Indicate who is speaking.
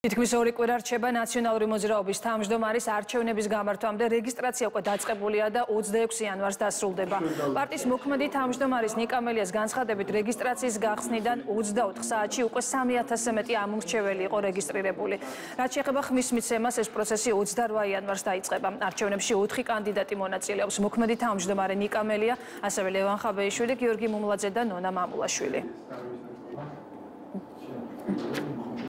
Speaker 1: თითქმის 2 კვირა რჩება ნაციონალური მოძრაობის თავმჯდომარის არჩევნების გამართვამდე რეგისტრაცია უკვე დაწყებულია და 26 იანვარს დასრულდება. პარტიის მოქმედი თავმჯდომარის ნიკა მელიას განცხადებით რეგისტრაციის გახსნიდან 24 საათში უკვე 3000-ზე მეტი ამომრჩეველი იყო რეგისტრირებული. რაც შეეხება ხმის მიცემას, ეს პროცესი 28 იანვარს დაიწყება. არჩევნებში 4 კანდიდატი მონაწილეობს: მოქმედი თავმჯდომარე ნიკა მელია, ასევე ლევან ხაბეიშვილი, გიორგი მუმლაძე და ნონა მამულაშვილი.